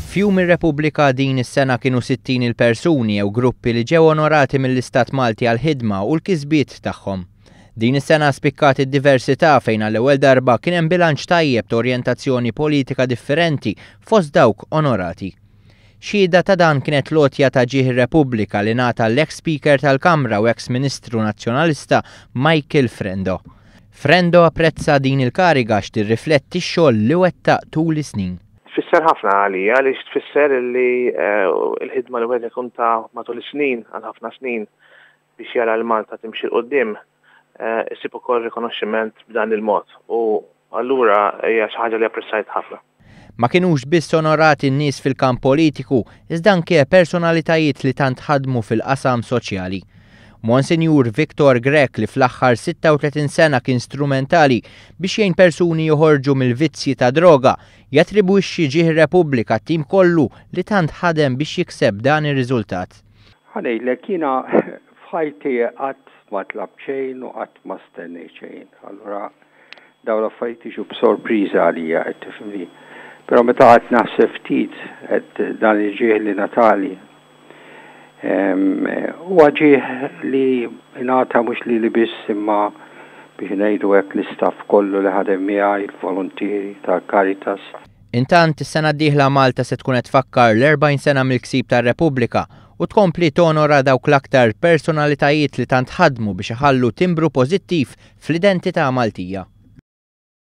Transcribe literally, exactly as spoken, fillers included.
F'Jum ir-Repubblika din is-sena kienu sittin il-persuni jew gruppi li ġew onorati mill-Istat Malti għall-ħidma u l-kisbiet tagħhom. Din is-sena spikkat id-diversità fejn għall-ewwel darba kien hemm bilanċ tajjeb ta' orjentazzjoni politika differenti fost dawk onorati. Xhieda ta' dan kienet l-għotja ta' Ġieħ ir-Repubblika li ngħata l-ex Speaker tal-Kamra u ex Ministru Nazzjonalista Michael Frendo. Frendo apprezza din il-kariga għax tirrifletti x-xogħol li wettaq tul is-snin. Tfisser ħafna għalija għaliex tfisser li l-ħidma li wieħed ikun ta matul is-snin, għal ħafna snin, biex jara l Malta timxi 'l quddiem, issib ukoll rikonoxximent b'dan il-mod u allura hija xi ħaġa li apprezzajt ħafna. Ma kinux biss onorati n-nies fil-kamp politiku, iżda anke personalitajiet li tant ħadmu fil-qasam soċjali. Monsinjur Victor Grech li fl-aħħar sitta u tletin sena kien strumentali biex jgħin persuni joħorġu mill-vizzji ta' droga, jattribwixxi Ġieħ ir-Repubblika t-tim kollu li tant ħadem biex jikseb dan ir-riżultat. Ħa ngħidlek, jiena f'ħajti qatt ma tlabt xejn u qatt ma stennejt xejn. Allura dawn l-affarijiet jiġu b'sorpriża għalija, qed tifhimni. Però meta qatt naħseb ftit qed dan il-ġieħ li natali, huwa ġieħ li ngħata mhux lili biss imma biex ngħidu hekk l-istaff kollu li ħadem miegħi, il-volontieri tal-Caritas. Intant, is-sena d-dieħla Malta se tkun qed tfakkar l-erbgħin sena mill-ksib tar-Repubblika u tkompli tonora dawk l-aktar personalitajiet li tant ħadmu biex iħallu timbru pożittiv fl-identità Maltija.